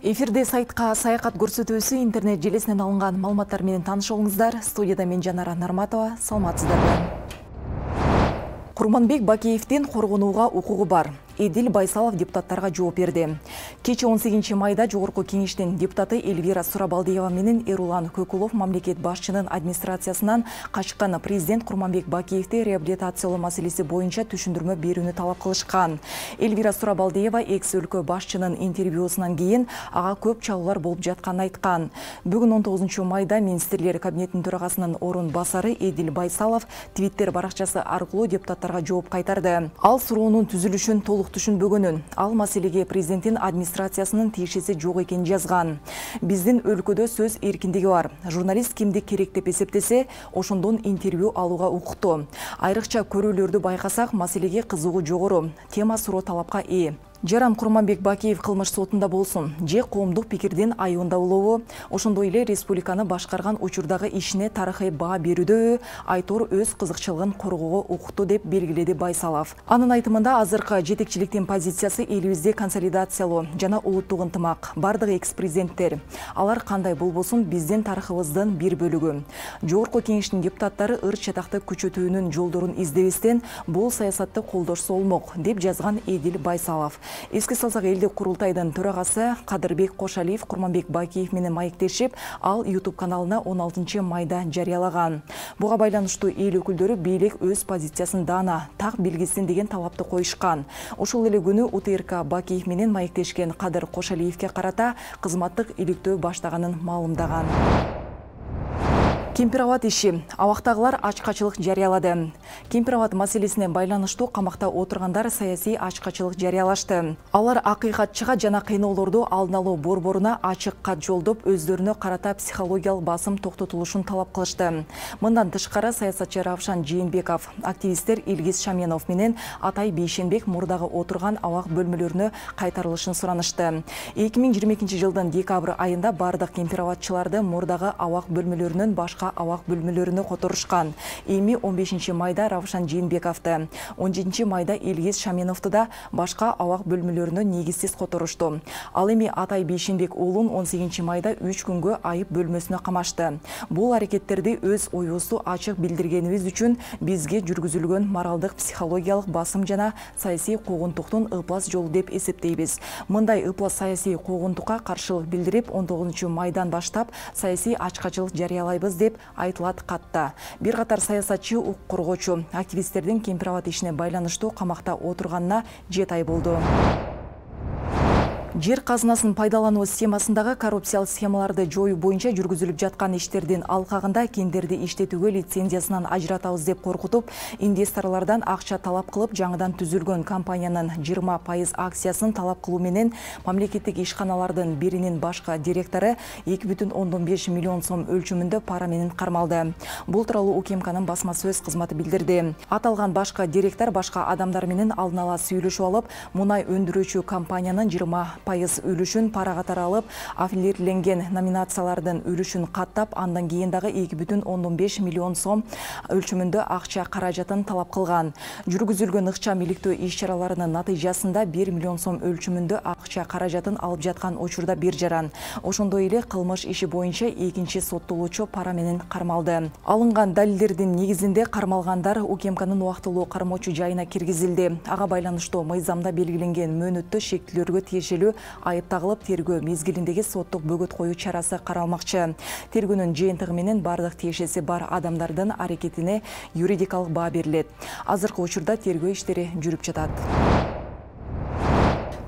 Эфирде сайтка саякат көрсөтүүсү интернет желесинен алынган маалыматтар менен таанышыңыздар. Студияда мен Жанара Нарматова. Саламатсыздарбы? Курманбек Бакиевдин коргонууга укугу бар. Эдил Байсалов депутаттарга жооп берди. Кечээ 18 майда Жогорку кеңештин депутаты Эльвира Сурабалдиева менен Эрулан Көкулов мамлекет башчынын администрациясынан качкан президент Курманбек Бакиевди реабилитациялоо маселеси боюнча түшүндүрмө берүүнү талап кылышкан. Эльвира Сурабалдиева экс-өлкө башчынын интервьюсунан кийин ага көп чалуулар болуп жатканын айткан. Бүгүн 19 майда министрлер кабинетинин төрагасынын орун басары Эдил Байсалов Twitter баракчасы аркылуу депутаттарга жооп кайтарды. Ал суроонун түзүлүшүн толук түшүнбөгөнүн, ал маселеге президенттин администрациясынын тиешеси жок экенин жазган. Биздин өлкөдө сөз эркиндиги бар. Журналист кимди керек деп эсептесе, ошондон интервью алууга укуктуу. Айрыкча көрүүлөрдү байкасак, маселеге кызыгуу жогору. Тема суроо талапка ээ. Жаран Курманбек Бакиев кылмыш сотунда болсун, же коомдук пикирдин айыбында болобу, ошондой эле республиканы башкарган учурдагы ишине тарыхый баа берүүдө Айтор өз кызыкчылыгын коргоого укуктуу деп белгиледи Байсалов. Анын айтымында азыркы жетекчиликтин позициясы элибизде консолидациялоо жана улуттук ынтымак. Бардык экс-президенттер, алар кандай болбосун биздин тарыхыбыздын бир бөлүгү. Жогорку кеңештин депутаттары ыр чатакты күчөтүүнүн жолдорун издебестен бул саясатты колдошсо болмок, деп жазган Эдил Байсалов. Эске салсак, элдик курултайдын төрагасы Кадырбек Кошалиев Курманбек Бакиев менен маектешип, ал YouTube каналына 16 майда жарыялаган. Буга байланыштуу эл өкүлдөрү бийлик өз позициясын даана, так белгисин деген талапты коюшкан. Ошол эле күнү УТРК Бакиев менен маектешкен Кадыр Кошалиевке карата кызматтык иликтөө баштаганын маалымдаган. Кемпир-абад иши. Абактагылар ачкачылык жарыялады. Кемпир-абад маселесине байланыштуу камакта отургандар саясий ачкачылык жарыялашты. Алар акыйкатчыга жана кыйноолорду алдын алуу борборуна ачык кат жолдоп, өздөрүнө карата психологиялык басым токтотулушун талап кылышты. Мындан тышкары саясатчы Равшан Жээнбеков, активисттер Илгиз Шаменов менен Атай Бейшенбек мурдагы отурган абак бөлмөлөрүнө кайтарылышын суранышты. 2022 жылдын декабрь айында бардык кемпир-абадчыларды мурдагы абак бөлмөлөрүнөн башка абак бөлмөлөрүнө которушкан. Эми 15 майда Равшан Жээнбековду, 17 майда Илгиз Шаменовду да башка абак бөлмөлөрүнө негизсиз которушту. Ал эми Атай Бейшенбек уулун 18 майда 3 күнгө айып бөлмөсүнө камашты. Бул аракеттерди өз оюбузду ачык билдиргенибиз үчүн бизге жүргүзүлгөн моралдык, психологиялык басым жана саясий куугунтуктун ыплас жолу деп эсептейбиз. Мындай ыплас саясий куугунтукка каршылык билдирип, 19 майдан баштап саясий ачкачылык жарыялайбыз деп айтылат катта. Бир катар саясатчы, укук коргоочу, активисттердин кемпир-абад ишине байланыштуу камакта отурганына 7 ай болду. Жер казынасын пайдалануу схемасындагы коррупциялык схемаларды жоюу боюнча жүргүзүлүп жаткан иштердин алкагында кендерди иштетүүгө лицензиясынан ажыратабыз деп коркутуп, инвесторлордон акча талап кылып, жаңыдан түзүлгөн компаниянын 20% акциясын талап кылуу менен мамлекеттик ишканалардын биринин башкы директору 2,5 миллион сом өлчөмүндө пара менен кармалды. Бул тууралуу УКМКнын басма сөз кызматы билдирди. Аталган башкы директор башка адамдар менен алдын ала сүйлөшүп алып, мунай өндүрүүчү компаниянын 20% үлүшүн пара катары алып, аффилирленген номинациялардын үлүшүн каттап, андан кийин дагы 2,5 миллион сом өлчөмүндө акча каражатын талап кылган. Жүргүзүлгөн ыкчам иликтөө иш-чараларынын натыйжасында 1 миллион сом өлчөмүндө акча каражатын алып жаткан учурда бир жаран. Ошондой эле кылмыш иши боюнча экинчи соттолуучу пара менен кармалды. Алынган далилдердин негизинде кармалгандар УКМКнын убактылуу кармоочу жайына киргизилди. Ага байланыштуу мыйзамда белгиленген мөөнөттө шектүүлөргө тиешелүү айып тагылып, тергөө мезгилиндеги соттук бөгөт коюу чарасы каралмакчы. Тергөөнүн жыйынтыгы менен бардык тиешеси бар адамдардын аракетине юридикалык баа берилет. Азыркы учурда тергөө иштери жүрүп жатат.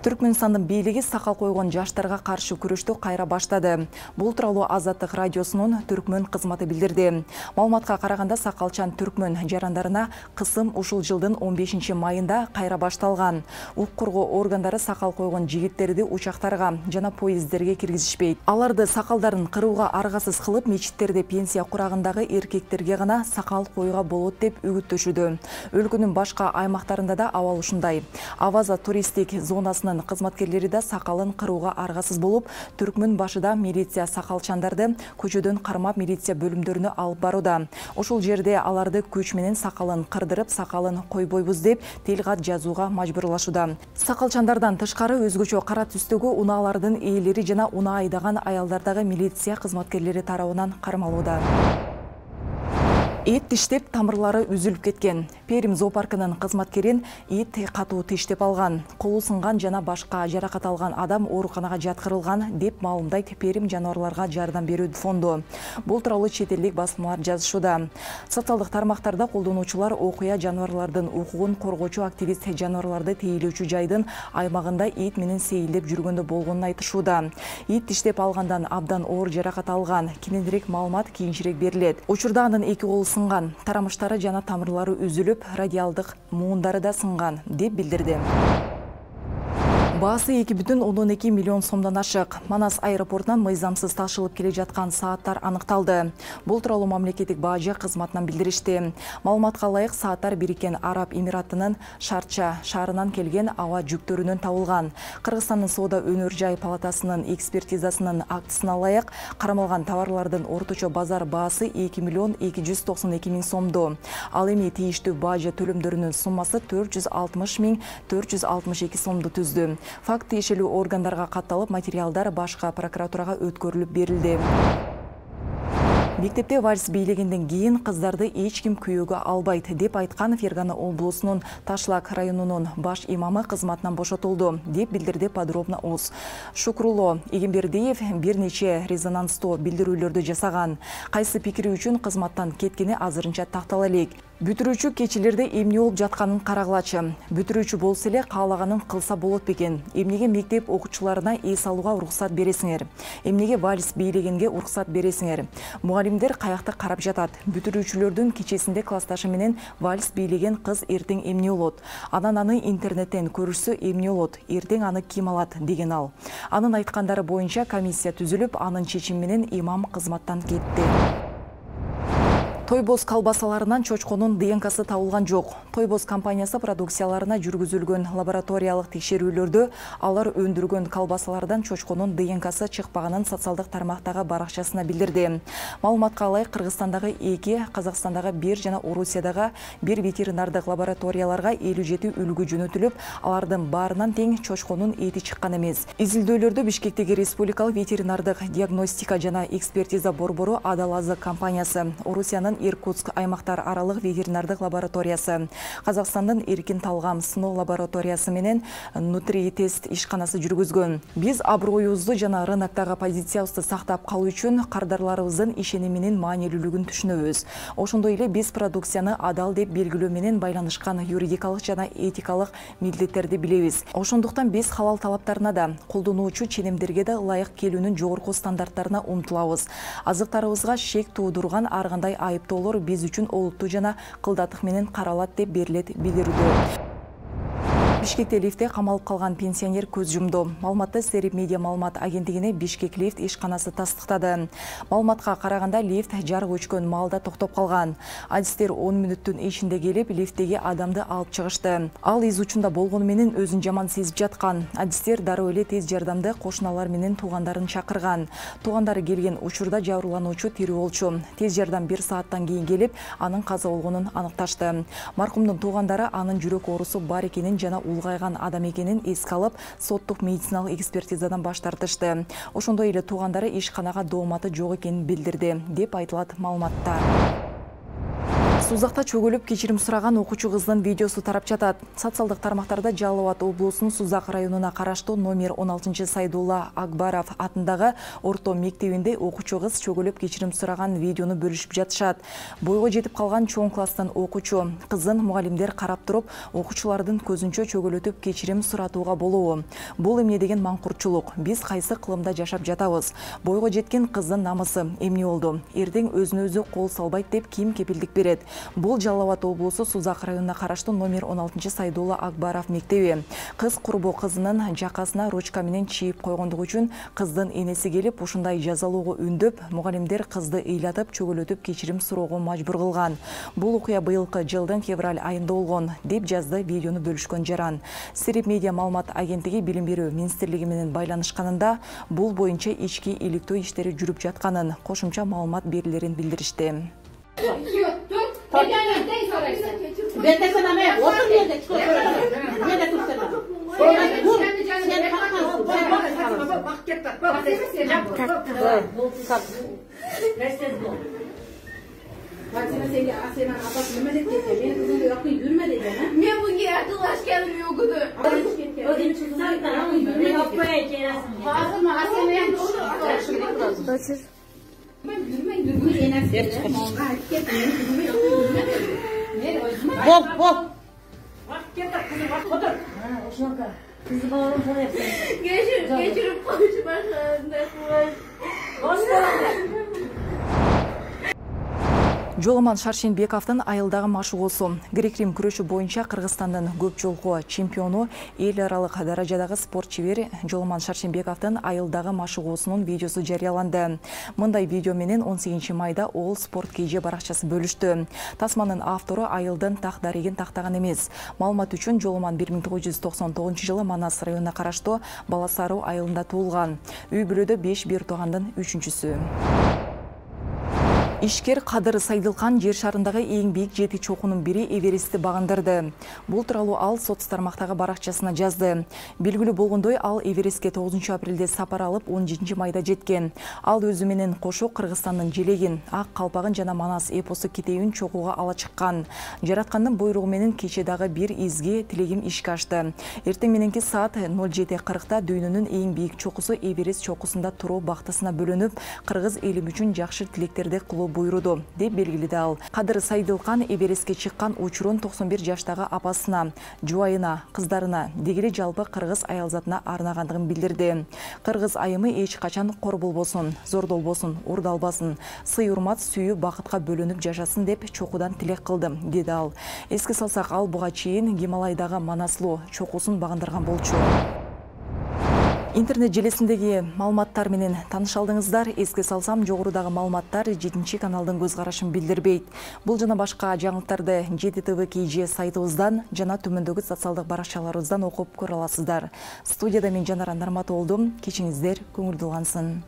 Түркмөнстандын бийлиги сакал койгон жаштарга каршы күрөштү кайра баштады. Бул тууралуу Азаттык радиосунун Түркмөн кызматы билдирди. Маалыматка караганда, сакалчан түркмөн жарандарына кысым ушул жылдын 15 майында кайра башталган. Укук коргоо органдары сакал койгон жигиттерди учактарга жана поезддерге киргизишпейт. Аларды сакалдарын кырууга аргасыз кылып, мечиттерде пенсия курагындагы эркектерге гана сакал коюуга болот деп үгүттөшүүдө. Өлкөнүн башка аймактарында да абал ушундай. Аваза туристтик зонасынын полициясынын кызматкерлери да сакалын кырууга аргасыз болуп, Түркмөн башыда милиция сакалчандарды көчөдөн кармап милиция бөлүмдөрүнө алып барууда. Ошол жерде аларды күч менен сакалын кырдырып, сакалын койбойбуз деп тил кат жазууга мажбурлашууда. Сакалчандардан тышкары өзгөчө кара түстөгү унаалардын ээлери жана унаа айдаган аялдар дагы милиция кызматкерлери тарабынан кармалууда. Ит тиштеп тамырлары үзүлүп кеткен. Перим зоопаркынын кызматкерин ит катуу тиштеп алган. Колу сынган жана башка жаракат алган адам ооруканага жаткырылган деп маалымдайт Перим жаныбарларга жардам берүү фонду. Бул тууралуу чет элдик басмалар жазышууда. Социалдык тармактарда колдонуучулар окуя жаныбарлардын укугун коргоочу активист жаныбарларды тейлөөчү жайдын аймагында ит менен сейилдеп жүргөндө болгонун айтышууда. Ит тиштеп алгандан абдан оор жаракат алган. Кененирээк маалымат кийинчерээк берилет. Учурда анын эки колу сынган, тарамыштары жана тамырлары үзүлүп, радиалдык муундары да сынган деп билдирди. Баасы 2,12 миллион сомдон ашык. Манас аэропортунан мыйзамсыз ташылып келе жаткан сааттар аныкталды. Бул тууралуу мамлекеттик бажы кызматынан билдиришти. Маалыматка ылайык, сааттар Бириккен Араб Эмиратынын Шарча шаарынан келген аба жүктөрүнөн табылган. Кыргызстандын соода өнөр жай палатасынын экспертизасынын актысына ылайык, кармалган товарлардын орточо базар баасы 2 миллион 292 миң сомду. Ал эми тийиштүү бажы төлөмдөрүнүн суммасы 460 миң 462 сомду түздү. Факт тиешелүү органдарга катталып, материалдар башка прокуратурага өткөрүлүп берилди. Мектепте вальс бийлегенден кийин кыздарды эч ким күйөөгө албайт деп айткан Фергана облусунун Ташлак районунун баш имамы кызматынан бошотулду деп билдирди Подробно УЗ. Шукрулло Эгембердиев бир нече резонанстуу билдирүүлөрдү жасаган. Кайсы пикири үчүн кызматтан кеткени азырынча тактала элек. Бүтүрүүчү кечилерде эмне болуп жатканын карагылачы. Бүтүрүүчү болсо эле каалаганын кылса болот бекен. Эмнеге мектеп окуучуларына эс алууга уруксат бересиңер? Эмнеге вальс бийлегенге уруксат бересиңер? Мугалимдер каякта карап жатат. Бүтүрүүчүлөрдүн кечесинде классташы менен вальс бийлеген кыз эртең эмне болот? Анан аны интернеттен көрүшсө эмне болот? Эртең аны ким алат деген ал. Анын айткандары боюнча комиссия түзүлүп, анын чечими менен имам кызматтан кетти. Тойбоз колбасаларынан чочконун ДНКсы табылган жок. Тойбоз компаниясы продукцияларына жүргүзүлгөн лабораториялык текшерүүлөрдө алар өндүргөн колбасалардан чочконун ДНКсы чыкпаганын социалдык тармактагы баракчасына билдирди. Маалыматка ылайык, Кыргызстандагы 2, Казакстандагы 1 жана Орусиядагы 1 ветеринардык лабораторияларга 57 үлгү жөнөтүлүп, алардын баарынан тең чочконун эти чыккан эмес. Изилдөөлөрдө Бишкектеги Республикалык ветеринардык диагностика жана экспертиза борбору Адалазы компаниясы, Орусиянын Иркутск аймактар аралык ветеринардык лабораториясы, Казакстандын Эркин Талгам сыноо лабораториясы менен Нутри тест ишканасы жүргүзгөн. Биз аброюбузду жана рыноктогу позициябызды сактап калуу үчүн кардарларыбыздын ишеними менен маанилүүлүгүн түшүнөбүз. Ошондой эле биз продукцияны адал деп белгилөө менен байланышкан юридикалык жана этикалык милдеттерди билебиз. Ошондуктан биз халал талаптарына да, колдонуучу ченемдерге да ылайык келүүнүн жогорку стандарттарына умтулабыз. Азыктарыбызга шек туудурган ар кандай айыптоолор биз үчүн олуттуу жана кылдаттык менен каралат деп берилет билдирүүдө. Бишкекте лифтте камалып калган пенсионер көз жумду. Маалыматты Серип медиа маалымат агенттигине Бишкек лифт ишканасы тастыктады. Маалыматка караганда лифт жарык өчкөн маалда токтоп калган. Адистер 10 мүнөттүн ичинде келип, лифттеги адамды алып чыгышты. Ал из учунда болгону менен өзүн жаман сезип жаткан. Адистер дароо эле тез жардамды кошуналар менен туугандарын чакырган. Туугандары келген учурда жабырлануучу тирүү болчу. Тез жардам 1 сааттан кийин келип, анын каза болгонун аныкташты. Маркумдун туугандары анын жүрөк оорусу бар экенин жана улгайган адам экенин эске алып, соттук медициналык экспертизадан баш тартышты. Ошондой эле туугандары ишканага дооматы жок экенин билдирди, деп айтылат маалыматта. Сузакта чөгөлүп кечирим сураган окуучу кыздын видеосу тарап жатат. Социалдык тармактарда Жалал Абад облусунун Сузак районуна караштуу номер 16 Сайдулла Акбаров атындагы орто мектебинде окуучу кыз чөгөлүп кечирим сураган видеону бөлүшүп жатышат. Бойго жетип калган чоң класстан окуучу кыздын мугалимдер карап туруп, окуучулардын көзүнчө чөгөлөтүп кечирим суратууга болобу? Бул эмне деген маңкуртчулук? Биз кайсы кылымда жашап жатабыз? Бойго жеткен кыздын намысы эмне болду? Эртең өзүнө өзү кол салбайт деп ким кепилдик берет? Бул Жалал Абад облусу Сузак районуна караштуу номер 16 Сайдулла Акбаров мектеби. Кыз курбу кызынын жакасына ручка менен чийип койгондугу үчүн кыздын энеси келип ушундай жазалоого үндөп, мугалимдер кызды ыйлатып, чөгөлөтүп кечирим суроого мажбур кылган. Бул окуя быйылкы жылдын февраль айында болгон, деп жазды видеону бөлүшкөн жаран. Сирип медиа маалымат агенттиги Билим берүү министрлиги менен байланышканында бул боюнча ички иликтөө иштери жүрүп жатканын, кошумча маалымат берилерин билдиришти. Men bunga yaqinlashganim yo'q edi. Geçirip konuşmasında Жоламан Шаршенбековдун айылдагы машыгуусу. Грек-рим күрөшү боюнча Кыргызстандын көп жолку чемпиону, эл аралык даражадагы спорт чебери Жоламан Шаршенбековдун айылдагы машыгуусунун видеосу жарыяланды. Мындай видео менен 18 майда All Sport KG баракчасы бөлүштү. Тасманын автору айылдын так дарегин тактаган эмес. Маалымат үчүн Жоламан 1999 жылы Манас районуна караштуу Баласаруу айылында туулган. Үй бүлөдө 5 бир туугандын 3-чүсү. Ишкер Кадыр Сайдылкан жер шарындагы эң бийик 7 чокунун бири Эверестти багындырды. Бул тууралуу ал соц тармактагы баракчасына жазды. Белгилүү болгондой, ал Эверестке 9 апрелде сапар алып 17 майда жеткен. Ал өзү менен кошо Кыргызстандын желегин, ак калпагын жана Манас эпосу китебин чогууга ала чыккан. Жараткандын буйругу менен кече дагы бир изги тилегим ишке ашты. Эртең мененки саат 07:40 дүйнөнүн эң бийик чокусу Эверест чокусунда туруу бактысына бөлөнүп, кыргыз эли үчүн жакшы тилектерди кылуу буйруду, деп белгиледи ал. Кадыр Сайдылкан Эверестке чыккан учурун 91 жаштагы апасына, жубайына, кыздарына, дегеле жалпы кыргыз аялзатына арнагандыгын билдирди. Кыргыз айымы эч качан кор болбосун, зордолбосун, урдалбасын, сый-урмат, сүйүү, бакытка бөлөнүп жашасын деп чокудан тилек кылдым, деди ал. Эске салсак, ал буга чейин Гималайдагы Манаслуу чокусун багындырган болчу. Интернет желесиндеги маалыматтар менен тааныша алдыңыздар. Эске салсам, жогорудагы маалыматтар 7 каналдын көз карашын билдирбейт. Бул жана башка жаңылыктарды 7 TV KG сайтыбыздан жана төмөндөгү социалдык баракчаларыбыздан окуп көрө аласыздар. Студияда мен Жанара Нарматов болдум. Кечиңиздер көңүлдүү улансын.